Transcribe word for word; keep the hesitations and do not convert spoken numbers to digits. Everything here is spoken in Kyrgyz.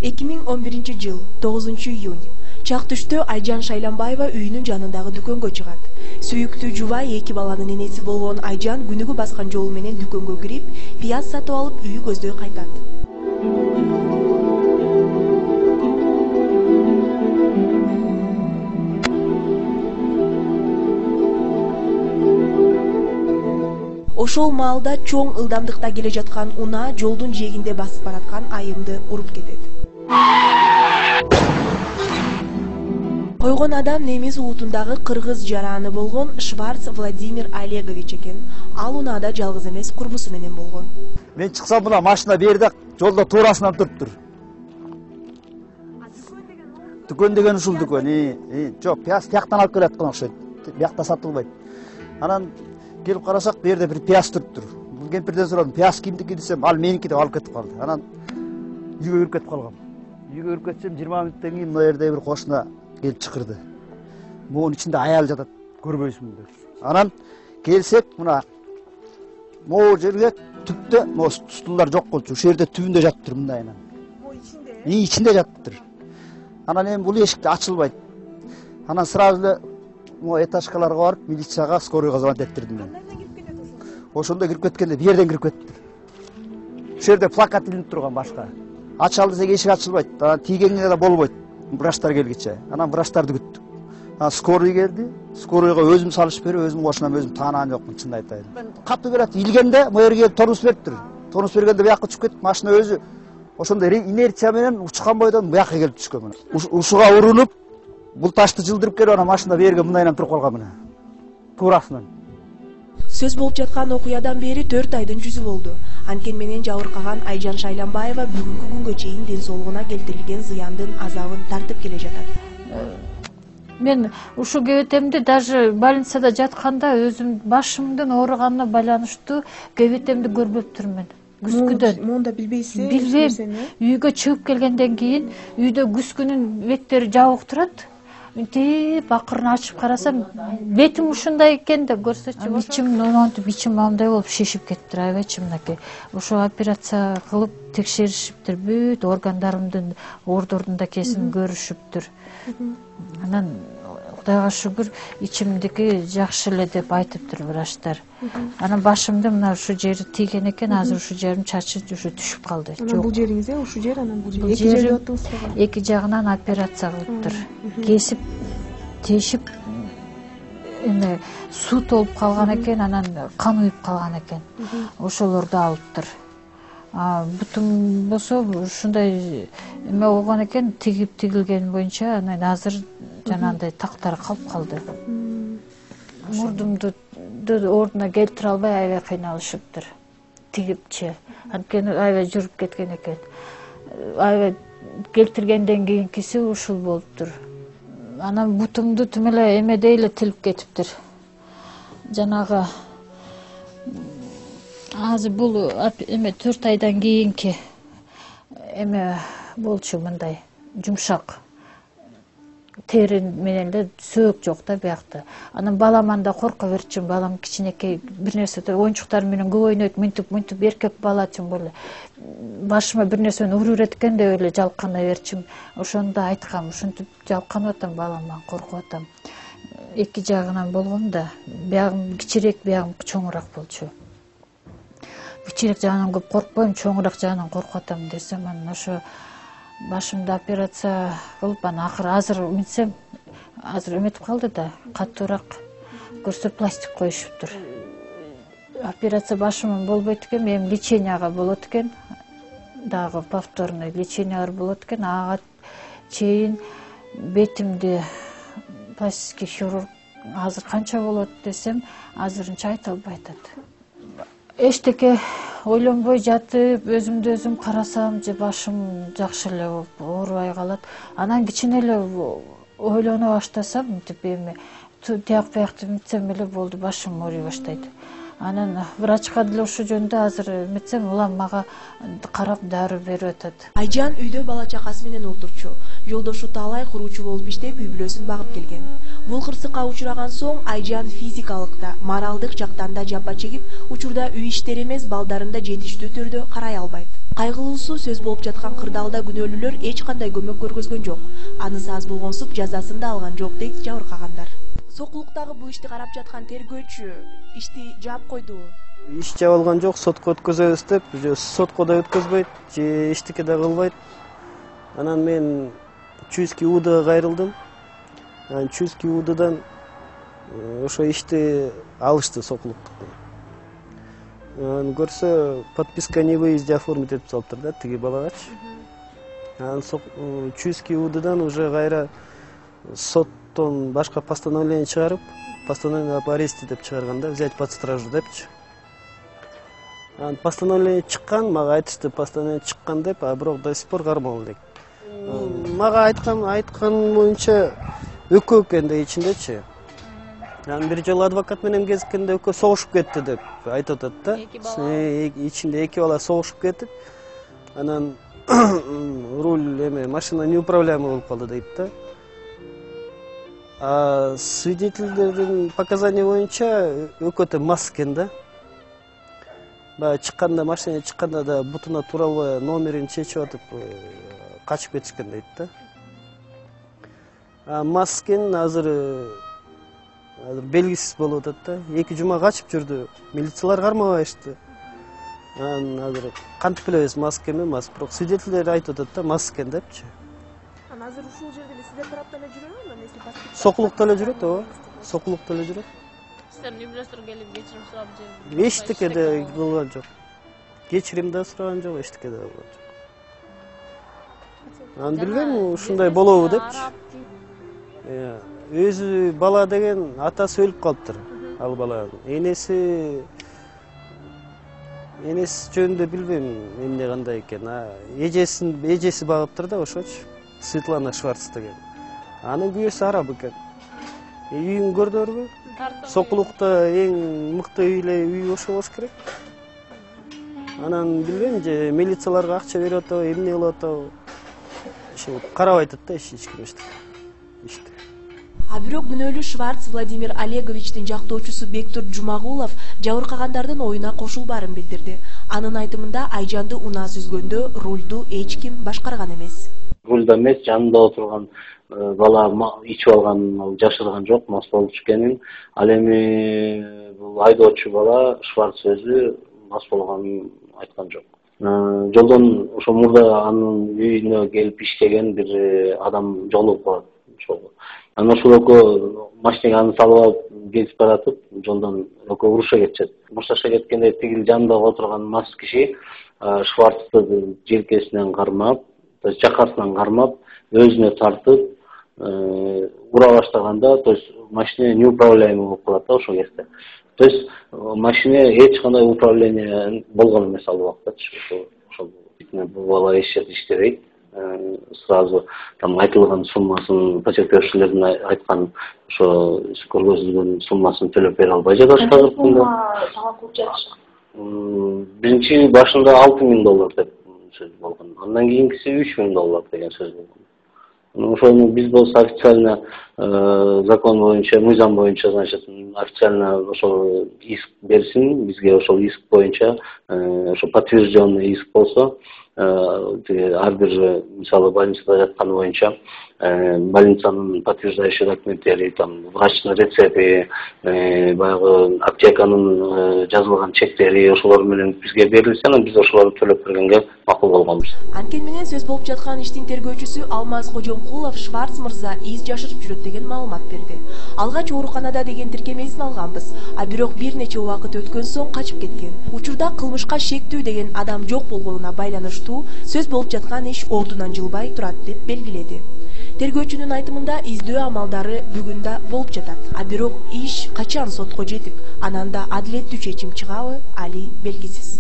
эки миң он биринчи жыл тогузунчу июнь чак түштө Айжан Шайланбаева үйүнүн жанындагы дүкөнгө чыгат. Сүйүктүү жубай эки баланын энеси болгон Айжан күнүгө баскан жолу менен дүкөнгө кирип, пияз сатып алып үйү көздөй кайтат. Ошол маалда чоң ылдамдыкта келе жаткан унаа жолдун жээгинде басып бараткан айымды уруп кетет. Койгон адам немис улутундагы кыргыз жараны болгон Шварц Владимир Олегович экен. Ал унаада жалгыз эмес, курбусу менен болгон. Мен чыксам мына машина берде жолдо туурасынан туруптур. Дүкөн деген ушул дүкөн. И, жок, пияз тияктан алып келаткан окшойт. Биякта сатылбайт. Анан келип карасак, бу жерде бир пияз туруптур. Бул кемпирден сурадым, пияз кимдики десем, ал меники деп алып кетип калды. Анан үйгө кирип кетип калгам. Үйгө кирип кетсем, жыйырма мүнөттөн кийин мына жерде бир кошуна келип чакырды. Могунун ичинде аял жатат, көрбөйсүңбү деп. Анан келсек, мына могу жерге түптө могу стулдар жок болчу. Ушул жерде түбүндө жатыптыр мындайынан. Мо ичинде? И, ичинде жатыптыр. Анан эми бул эшик ачылбайт. Анан сразу эле могу этажкаларга барып, милицияга, скорыйга звонить эттирдим мен. Кандайдан кирип кетет ошол? Ошондо кирип кеткенде бул жерден кирип кетиптир. Ушул жерде плакат илинип турган башка. Ачалы десек эшик ачылбайт. Анан тийгенге да болбойт. Врачтар келгиче. Анан врачтарды күттүк. Анан скорый келди. Скорыйга өзүм салышып берип, өзүм кошунам, өзүм таанаган жокмун, чынын айтайын. Мен кап операция илгенде, могу жерге тормоз бериптир. Тормоз бергенде буякка түшүп кетип, машина өзү ошондой инерция менен учкан бойдон буякка келип түшкөн. Ушуга урунуп, бул ташты жылдырып келип, анан машина берге мындайынан туруп калган мына. Туурасынан. Сөз болуп жаткан окуядан бери төрт айдын жүзү болду. Анткени менен жабыркаган Айжан Шайланбаева бүгүнкү күнгө чейин ден соолугуна келтирилген зыяндын азабын тартып келе жатат. Мен ушул кебетемди даже больницада жатканда өзүм башымдын ооруганына байланыштуу кебетемди көрбөптүрмүн. Күзгүдөн. Монда билбейсиз? Билбейм. Үйгө чыгып келгенден кийин үйдө күзгүнүн беттери жабык турат. Мынтип акырын ачып карасам, бетим ушундай экен деп көрсөчү. Ичим номонтуп, ичим мамдай болуп шишип кетиптир аябайчы мынакей. Ошо операция кылып текшеришиптир, бүт органдарымдын ордордун кесин көрүшүптүр. Анан Кудайга шүгүр, ичимдики жакшы эле деп айтыптыр врачтар. Анан башымда мына ушул жери тийген экен, азыр ушул жерим чачы ушу түшүп калды. Анан бул жериңиз, ушул жер, анан бул жер. Эки жерде аттыңызбы? Эки жагынан операция кылыптыр. Кесип, тешип, эме суу толуп калган экен, анан кан уюп калган экен. Ошолорду алыптыр. Бутум болсо ушундай эме болгон экен, тигип тигилген боюнча, анан азыр жанагындай тактары калып калды. Мурдумду ордуна келтире албай аябай кыйналышыптыр. Тигипчи. Анткени аябай жүрүп кеткен экен. Аябай келтиргенден кийинкиси ушул болуптур. Анан бутумду тим эле эмедей эле тилип кетиптир. Жанагы азыр бул эме төрт айдан кийинки эме болчу, мындай жумшак тери менен эле сөөк жок да биякта. Анан баламан да корко берчүм, балам кичинекей бир нерсе оюнчуктар менен көп ойнойт, мынтип мынтип эркек бала чын эле. Башыма бир нерсени уруп береткен деп эле жалкана берчүм. Ошондо айткам, ушинтип жалканып атам, баламдан коркуп атам. Эки жагынан болгон да, биягым кичирээк, биягым чоңураак болчу. Кичирээк жагынан көп коркпойм, чоңураак жагынан коркуп атам десем, анан ошо башымда операция кылып, анан акыры азыр минсем, азыр эметип калды да, катуураак көрсө пластик коюшуптур. Операция башымын болбойт экен, эми леченияга болот экен. Дагы повторный лечениялар болот экен. Ага чейин бетимди пластический хирург азыр канча болот десем, азырынча айта албай атат. Эчтеке ойлонбой жатып, өзүмдү өзүм карасам, же башым жакшы эле болуп, оорубай калат. Анан кичине эле ойлоно баштасам, мынтип эми тияк биякты мынтсем эле болду, башым ооруй баштайт. Анан врачка деле ошол жөнүндө азыр эметсем улам мага карап дару берип атат. Айжан үйдө бала чакасы менен отурчу. Жолдошу Таалай куруучу болуп иштеп, үй бүлөсүн багып келген. Бул кырсыкка учураган соң Айжан физикалык да, моралдык жактан да жапа чегип, учурда үй иштери эмес, балдарын да жетиштүү түрдө карай албайт. Кайгылуусу сөз болуп жаткан кырдаалда күнөөлүүлөр эч кандай көмөк көргөзгөн жок. Анысы аз болгонсуп жазасын да алган жок дейт жабыркагандар. Сокулуктагы бул ишти карап жаткан тергөөчү ишти жаап койдубу? Иш жабылган жок, сотко өткөзөбүз деп, же сотко да өткөзбөйт, же эчтеке да кылбайт. Анан мен Чуйский УДга кайрылдым. Анан Чуйский УДдан ошо ишти алышты сокулуктуктан. Анан көрсө подписка не выезде оформить этип салыптыр да тиги балагачы. Анан Чуйский УДдан уже кайра соттон башка постановление чыгарып, постановление об аресте деп чыгарган да, взять под стражу депчи. Анан постановление чыккан, мага айтышты постановление чыккан деп, а бирок до сих пор кармалды дейт. Мага айткан айткан боюнча экөө экен да ичиндечи. Анан бир жолу адвокат менен кезиккенде экөө согушуп кетти деп айтып атат да. Ичинде эки бала согушуп кетип, анан руль эме машина неуправляемый болуп калды дейт да. А свидетельдердин показания боюнча экөө тең мас экен да. Баягы чыкканда, машина чыкканда да бутуна тура албай номерин чечип атып качып кетишкен дейт да. А мас экен азыр азыр белгисиз болуп атат да. Эки жума качып жүрдү. Милициялар кармабайышты. Анан азыр кантип билебиз мас экенби, мас, бирок свидетелдер айтып атат да мас экен депчи. Анан азыр ушул жерде эле сиздер тараптан эле жүрөбү, эмеси паспорт? Сокулукта эле жүрөт, ооба. Сокулукта эле жүрөт. Сиздердин үй бүлөсүнөн келип кечирим сурап же? Эчтеке да кылган жок. Кечирим да сураган жок, эчтеке да кылган жок. Анан билбейм, ушундай болобу депчи. Өзү бала деген атасы өлүп калыптыр, ал баланын. Энеси энеси жөнүндө билбейм эмне кандай экен. Эжесин эжеси багыптыр да ошочу. Светлана Шварц деген. Анын күйөөсү араб экен. Үйүн көрдүңөрбү? Сокулукта эң мыкты үйле үй ошо болуш керек. Анан билбейм же милицияларга акча берип атабы, эмне кылып атабы. Ошо карабай атат да эч ким эчтеке. Иште. А бирок күнөөлүү Шварц Владимир Олеговичтин жактоочусу Бектур Жумагулов жабыркагандардын оюна кошулбаарын билдирди. Анын айтымында Айжанды унаа сүзгөндө рулду эч ким башкарган эмес. Рулда эмес, жанында отурган бала ичип алган, жашырган жок, мас болуп чыкканын. Ал эми бул айдоочу бала Шварц өзү мас болгонун айткан жок. Жолдон ошо мурда анын үйүнө келип иштеген бир адам жолугуп калат. Анан ошол экөө машинеге аны салып алып кетип баратып, жолдон экөө уруша кетишет. Урушаша кеткенде тигил жанында отурган мас киши Шварцты желкесинен кармап, то есть жакасынан кармап, өзүнө тартып, ура баштаганда, то есть машина неуправляемый болуп калат да ошол кезде. То есть машина эч кандай управление болгон эмес ал убактачы. Ошол бул бала эч жерде иштебейт. Сразу там айтылган суммасын потерпевшилердин айткан ошо көргөзүлгөн суммасын төлөп бере албай жатышкан. Биринчи башында алты миң доллар деп сөз болгон. Андан кийинкиси үч миң доллар деген сөз болгон. Ошону биз болсо официально закон боюнча, мыйзам боюнча, значит, официально ошол иск берсин, бизге ошол иск боюнча, ошо подтвержденный иск болсо, ар бир мисалы больницада жатканы боюнча больницанын подтверждающий документтери, там врачтын рецепти, баягы аптеканын жазылган чектери ошолор менен бизге берилсе, анан биз ошолорду төлөп бергенге макул болгонбуз. Анткени менен сөз болуп жаткан иштин тергөөчүсү Алмаз Кожомкулов Шварц мырза из жашырып жүрөт деген маалымат берди. Алгач ооруканада деген тиркемесин алганбыз, а бирок бир нече убакыт өткөн соң качып кеткен. Учурда кылмышка шектүү деген адам жок болгонуна байланыштуу сөз болуп жаткан иш ордунан жылбай турат деп белгиледи. Тергөөчүнүн айтымында издөө амалдары бүгүн да болуп жатат. А бирок иш качан сотко жетип, анан да адилеттүү чечим чыгабы, али белгисиз.